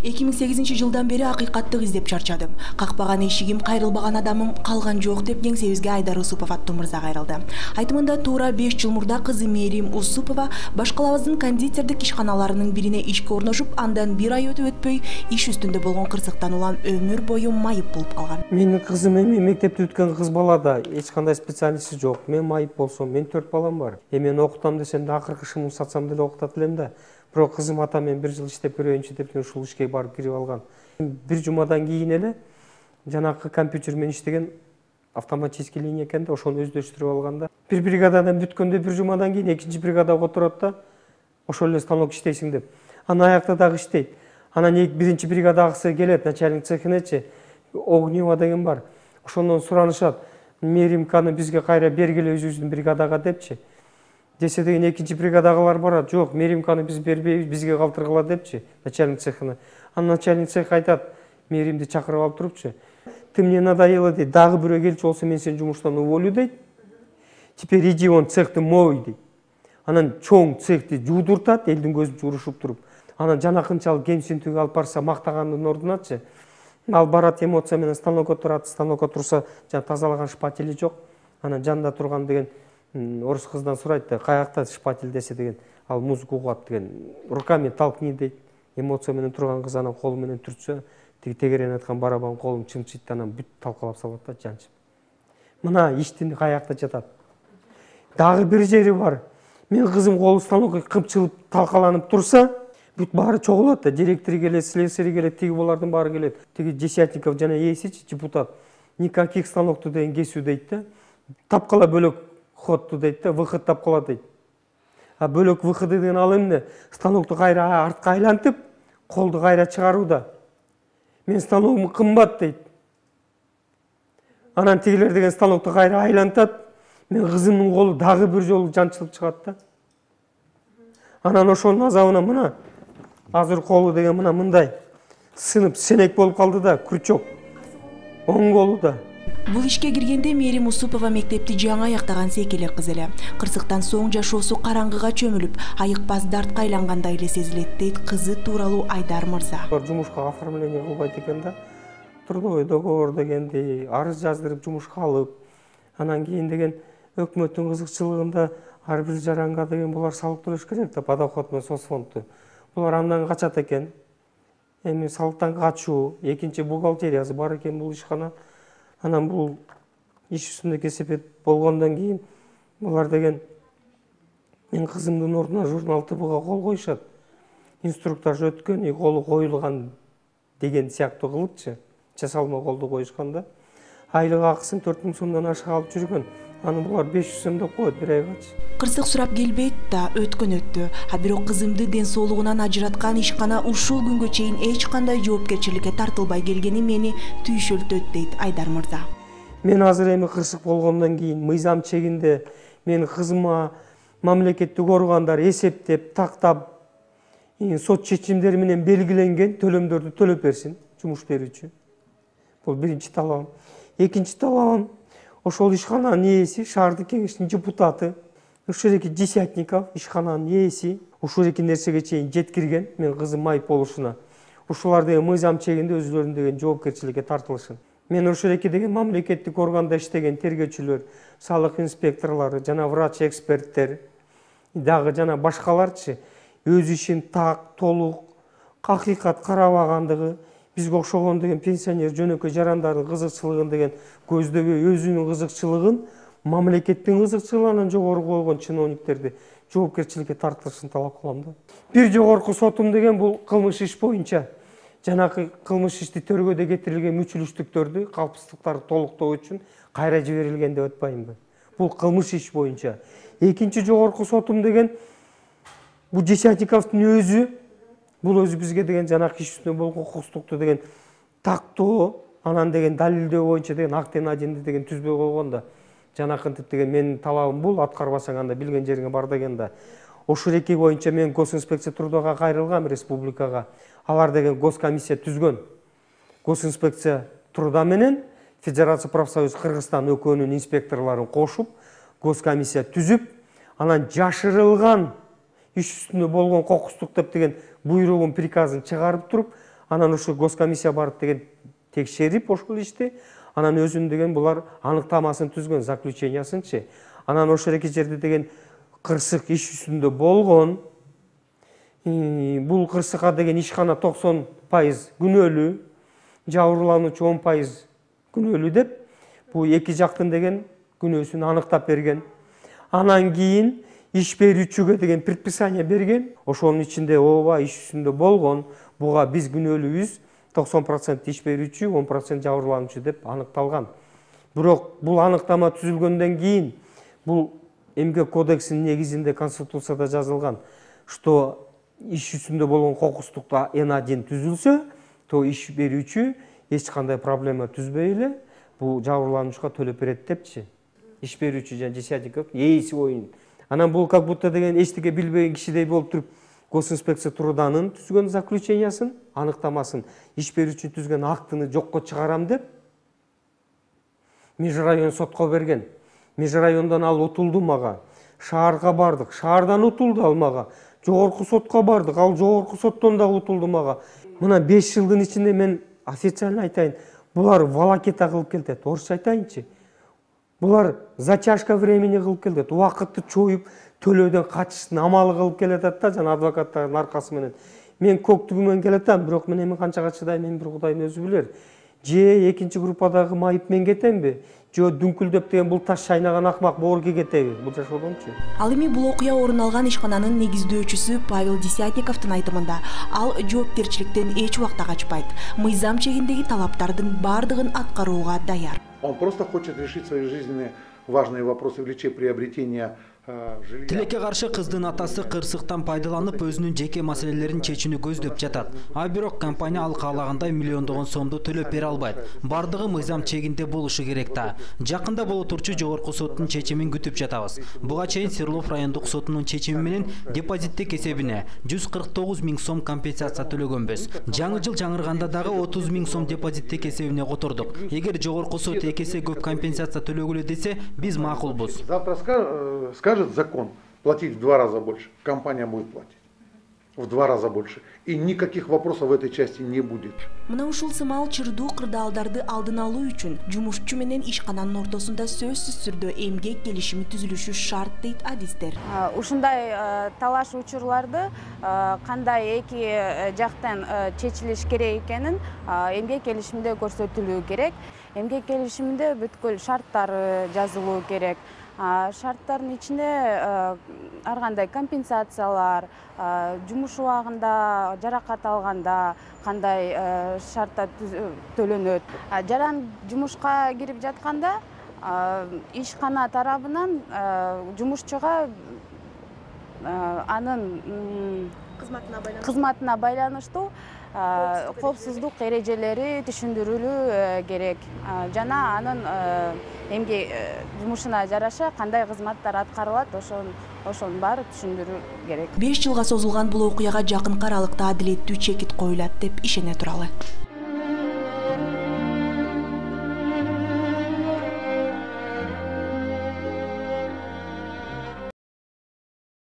2008-жылдан бери акыйкаттык издеп чарчадым. Какпаган эшигим, кайрылбаган адамым калган жок деп кеңсебизге Айдар Усупов аттуу мырза кайрылды. Айтымында туура 5 жыл мурда кызы Мээрим Усупова башкалабыздын кондитердик ишканаларынын бирине ишке орношуп, андан 1 ай өтүп өтпөй иш үстүндө болгон кырсыктан улам өмүр бою майып болуп калган. Менин кызым эми мектепти бүткөн кыз бала да, эч кандай специалисти жок. Мен майып болсом, мен 4 балам бар. Мен окутам десем да акыркы шымын сатсам деле окутат элем да. Бирок кызым ата мен 1 жыл иштеп көрөйүнчү деп ушул ишке барып кирип алган. Бир жумадан кийин эле жанакы компьютер менен иштеген автоматический линия экен да, ошону өздөштүрүп алган да. Бир бригададан бүткөндө 1 жумадан кийин экинчи бригадага отурат да, ошол эле станок иштейсиң деп. Анан аякта дагы иштейт. Анан биринчи бригадагысы келет, начальник цехинечи, Огнева деген бар. Ошондон суранышат, Меримканы бизге кайра бергиле өзүбүздүн бригадага депчи. Десе деген экинчи бригадагылар барат. Жок, Меримканы биз бербейбиз, бизге калтыргыла депчи, начальник цехына. Анан начальник цех айтат, Меримди чакырып алып турупчу. Ты мне надоело дейт, дагы бирөө келчү болсо мен сени жумуштан уволю дейт. Теперь иди вон цехты мой дейт. Анан чоң цехти жуудуртат, элдин көзүнчө урушуп туруп. Анан жанакынчалык кемсинтүүгө алып барса мактагандын ордуначы. Ал барат, эмоция менен станокко турат, станокко турса, жана тазалаган шпатели жок. Анан жанында турган деген орус кыздан сурайт да, каякта шпатель десе деген, ал музыка угат деген, руками толкни дейт. Эмоция менен турган кыз анан колу менен түртсө, тиги тегерен айткан барабан колун чымчыйт, анан бүт талкалап салат да, жанчып. Мына иштин каякта жатат. Дагы бир жери бар. Мен кызым колу станокко кымчылып талкаланып турса, бүт баары чогулат да, директор келет, слесарь келет, тиги булардын баары келет. Тиги Десятников жана ээсичи, депутат, никаких станокту деген кесүү дейт да. Тапкала бөлөк хотту дейт да, выход тапкала дейт. А бөлөк выходы деген ал эмне? Станокту кайра артка айлантып, колду кайра чыгарууда. Мен станогум кымбат дейт. Анан тигилер деген станокту кайра айлантат, мен кызымдын колу дагы бир жолу жанчылып чыгат да. Анан ошонун азабына мына азыр колу деген мына мындай сынып сенек болуп калды да, күрчөк. Оң колу да. Бул ишке киргенде Мээрим Усупова мектепти жаңы аяктаган секелек кыз эле. Кырсыктан соң жашоосу караңгыга чөмүлүп, айыкпас дартка айлангандай эле сезилет дейт кызы тууралуу Айдар мырза. Жумушка оформление кылбайт экен да. Трудовой договор дегенди арыз жаздырып жумушка алып, анан кийин деген өкмөттүн кызыкчылыгында ар бир жаранга деген булар салык төлөш керек да, подоход менен соцфондду. Булар андан качат экен. Эми салыктан качуу, экинчи бухгалтериясы бар экен бул ишкана. Анан бул иш үстүндө кесепет болгондон кийин булар деген мен кызымдын ордуна журнал ТБга кол коюшат. Инструктаж өткөн, колу коюлган деген сыяктуу кылыпчы. Жасалма колду коюшкан да. Айлык акысын 4000 сомдон ашык алып жүргөн. Аны булар 500 сом деп коет бир айгачы. Кырсык сурап келбейт да, өткөн өттү. А бирок кызымды ден соолугунан ажыраткан ишкана ушул күнгө чейин эч кандай жоопкерчиликке тартылбай келгени мени түйшөлтөт дейт Айдар мырза. Мен азыр эми кырсык болгондон кийин мыйзам чегинде мен кызыма мамлекеттик органдар эсептеп, тактап, сот чечимдери менен белгиленген төлөмдөрдү төлөп берсин жумуш берүүчү. Бул биринчи талабым. Экинчи талабым, ошол ишкананын ээси, шаардык кеңештин депутаты, ушуреки Десятников ишкананын ээси, ушуреки нерсеге чейин жеткирген, мен кызым майып болушуна. Ушулар деген мыйзам чегинде өзүлөрүн деген жоопкерчиликке тартылышын. Мен ушуреки деген мамлекеттик органда иштеген тергөөчүлөр, салык инспекторлору, жана врач эксперттер, дагы жана башкаларчы өз ишин так, толук, акыйкат карабагандыгы, бизге окшогон деген пенсионер жөнөкөй жарандардын кызыкчылыгын деген көздөбөй өзүнүн кызыкчылыгын мамлекеттин кызыкчылыгынан жогору койгон чиновниктерди жоопкерчиликке тартылышын талап кылам да. Бир жогорку сотум деген бул кылмыш иш боюнча жанакы кылмыш ишти төргөдө кетирилген мүчүлүштүктөрдү, калпсыздыктарды толуктоо үчүн кайра жиберилген деп атпаймынбы? Бул кылмыш иш боюнча. Экинчи жогорку сотум деген бул Десятниковдун өзү, бул өзү бизге деген жанакы иш үстүндө болгон кукуктукту деген тактоо, анан деген далилдөө боюнча деген актен аденди деген түзбөй койгон да. Жанакынтип деген менин талабым бул, аткарбасаң анда билген жериңе бар деген да. Ошуреки боюнча мен госинспекция трудага кайрылгам республикага. Алар деген госкомиссия түзгөн. Госинспекция труда менен Федерация профсоюз Кыргызстан ӨКөнүн инспекторлорун кошуп, госкомиссия түзүп, анан жашырылган иш үстүндө болгон кокустук деп деген буйругун, приказын чыгарып туруп, Анан ошо госкомиссия барып деген текшерип ошол ишти, анан өзүн деген булар аныктамасын түзгөн, заключениясынчы. Анан ошол эки жерде деген кырсык иш үстүндө болгон. Бул кырсыкка деген ишкана 90% күнөөлүү, жабырлануучу 10% күнөөлүү деп, бул эки жактын деген күнөөсүн аныктап берген. Анан кийин иш берүүчүгө деген предписание берген. Ошонун ичинде ооба иш үстүндө болгон, буга биз күнөөлүүбүз, 90% иш берүүчү, 10% жабырлануучу деп аныкталган. Бирок бул аныктама түзүлгөндөн кийин бул Эмгек кодексинин негизинде Конституцияда жазылган, что иш үстүндө болгон кокустукта N1 түзүлсө, то иш берүүчү эч кандай проблема түзбөй эле бул жабырлануучуга төлөп берет депчи. Иш берүүчү жана десятников ээси оюн. Анан бул как будто деген эчтеке билбеген кишидей болуп туруп, госинспекция труданын түзгөн заключениясын, аныктамасын, иш берүүчү түзгөн актыны жокко чыгарам деп межрайон сотко берген. Межрайондон ал утулду мага. Шаарга бардык, шаардан утулду ал мага. Жогорку сотко бардык, ал жогорку соттон дагы утулду мага. Мына 5 жылдын ичинде мен официально айтайын, булар волокита кылып келет, орусча айтайынчы. Булар затяжка времени кылып келет, убакытты чоюп, төлөөдөн качыштын амалы кылып келатат да, жана адвокаттардын аркасы менен. Мен көктүгү менен келатам, бирок мен эми канчага чыдайм, мен бир Кудайдын өзү билер. Же экинчи группадагы майып мен кетемби? Же дүңкүлдөп деген бул таш шайнаган акмак боорге кетеби? Бул жашоодончу. Ал эми бул окуя орун алган ишкананын негиздөөчүсү Павел Десятниковдун айтымында, ал жоопкерчиликтен эч убакта качпайт. Мыйзам чегиндеги талаптардын бардыгын аткарууга даяр. Он просто хочет решить свои жизненные важные вопросы в личе приобретения жилья. Тилекке каршы кыздын атасы кырсыктан пайдаланып өзүнүн жеке маселелерин чечүүнү көздөп жатат. А бирок компания ал каалагандай миллиондогон сомду төлөп бере албайт. Бардыгы мыйзам чегинде болушу керек да. Жакында боло турчу жогорку соттун чечимин күтүп жатабыз. Буга чейин Свердлов райондук сотунун чечими менен депозиттик эсебине 149 000 сом компенсация төлөгөнбүз. Жаңы жыл жаңырганда дагы 30 000 сом депозиттик эсебине котордук. Эгер жогорку сот эки эсе көп компенсация төлөгүлө десе, биз макулбуз. Завтра скажет закон платить в 2 раза больше, компания будет платить в 2 раза больше, и никаких вопросов в этой части не будет. Мына ушул сымал чырдуу кырдаалдарды алдын алуу үчүн жумушчу менен ишкананын ортосунда сөзсүз түрдө эмгек келишими түзүлүшү шарт дейт адистер. Ушундай талаш учурларды кандай эки жактан чечилиш керек экенин эмгек келишиминде көрсөтүлүү керек. Эмгек келишиминде бүткүл шарттары жазылуу керек. Шарттардын ичинде ар кандай компенсациялар, жумуш убагында жаракат алганда кандай шартта төлөнөт. Жаран жумушка кирип жатканда ишкана тарабынан жумушчуга анын кызматына байланыштуу коопсуздук эрежелери түшүндүрүлүү керек. Жана анын эмгек жумушуна жараша кандай кызматтар аткарылат, ошонун баары түшүндүрүү керек. 5 жылга созулган бул окуяга жакынкы аралыкта адилеттүү чекит коюлат деп ишене туралы.